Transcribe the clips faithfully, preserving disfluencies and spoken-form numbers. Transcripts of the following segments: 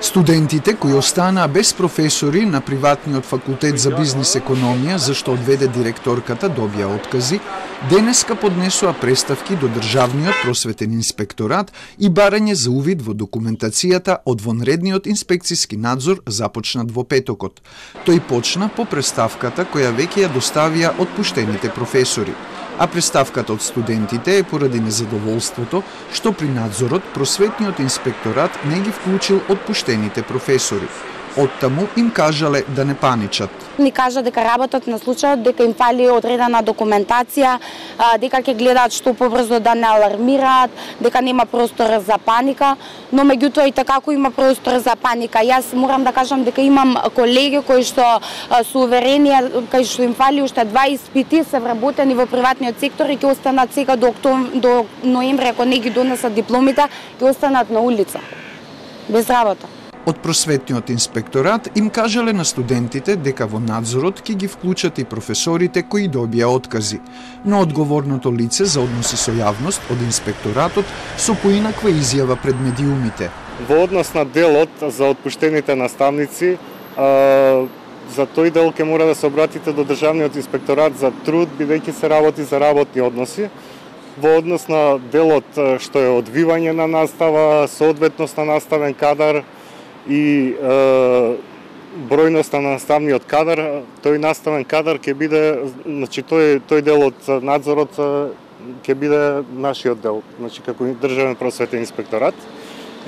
Студентите кои останаа без професори на приватниот факултет за бизнис економија, зашто одведе директорката, добија откази, денеска поднесоа преставки до Државниот просветен инспекторат и барање за увид во документацијата од вонредниот инспекциски надзор започнат во петокот. Тој почна по преставката која веќе ја доставија отпуштените професори. А преставката од студентите е поради незадоволството што при надзорот просветниот инспекторат не ги вклучил отпуштените професори. Оттаму им кажале да не паничат. Ни кажа дека работат на случајот, дека им фали одредена документација, дека ќе гледаат што побрзо да не алармираат, дека нема простор за паника, но меѓутоа и такако има простор за паника. Јас морам да кажам дека имам колеги кои што се уверени, кај што им фали уште два испити, се вработени во приватниот сектор и ќе останат сега до октомври, до ноември, ако не ги донесат дипломите, ќе останат на улица без работа. Од просветниот инспекторат им кажале на студентите дека во надзорот ќе ги вклучат и професорите кои добија откази, но одговорното лице за односи со јавност од инспекторатот со поинаква изјава пред медиумите. Во однос на делот за отпуштените наставници, за тој дел ќе мора да се обратите до Државниот инспекторат за труд, бидејќи се работи за работни односи. Во однос на делот што е одвивање на настава, соодветност на наставен кадар и е, бројност на наставниот кадар, тој наставен кадар ќе биде, значи тој тој дел од надзорот ќе биде нашиот дел, значи како Државен просветен инспекторат.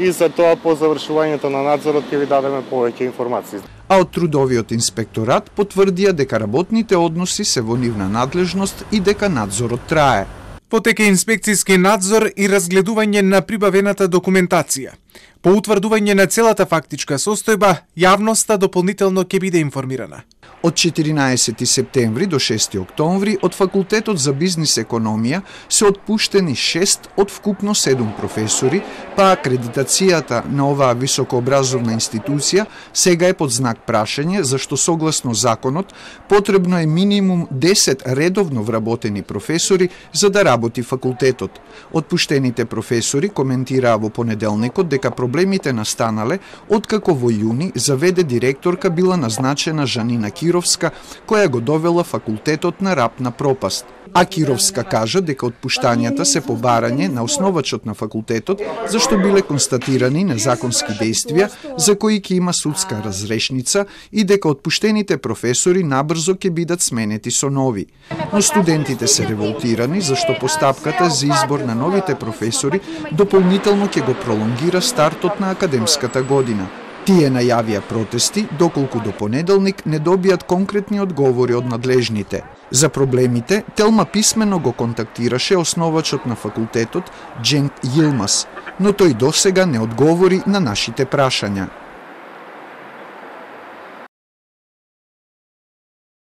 И за тоа по завршувањето на надзорот ќе ви дадеме повеќе информации. А од трудовиот инспекторат потврдија дека работните односи се во нивна надлежност и дека надзорот трае. Потека инспекцијски надзор и разгледување на прибавената документација. По утврдување на целата фактичка состојба, јавноста дополнително ќе биде информирана. Од четиринаесети септември до шести октомври од Факултетот за бизнис економија се отпуштени шест од вкупно седум професори, па акредитацијата на оваа високообразовна институција сега е под знак прашање, зашто согласно законот потребно е минимум десет редовно вработени професори за да работи факултетот. Отпуштените професори коментираа во понеделникот дека проблемите настанале откако во јуни заведе директорка била назначена Жанина Кировска, која го довела факултетот на рап на пропаст. А Кировска кажа дека отпуштањата се побарање на основачот на факултетот, зашто биле констатирани незаконски действија за кои ќе има судска разрешница и дека отпуштените професори набрзо ќе бидат сменети со нови. Но студентите се револтирани зашто постапката за избор на новите професори дополнително ќе го пролонгира стартот на академската година. Тие најавија протести, доколку до понеделник не добијат конкретни одговори од надлежните. За проблемите, Телма писмено го контактираше основачот на факултетот Џенк Јилмас, но тој досега не одговори на нашите прашања.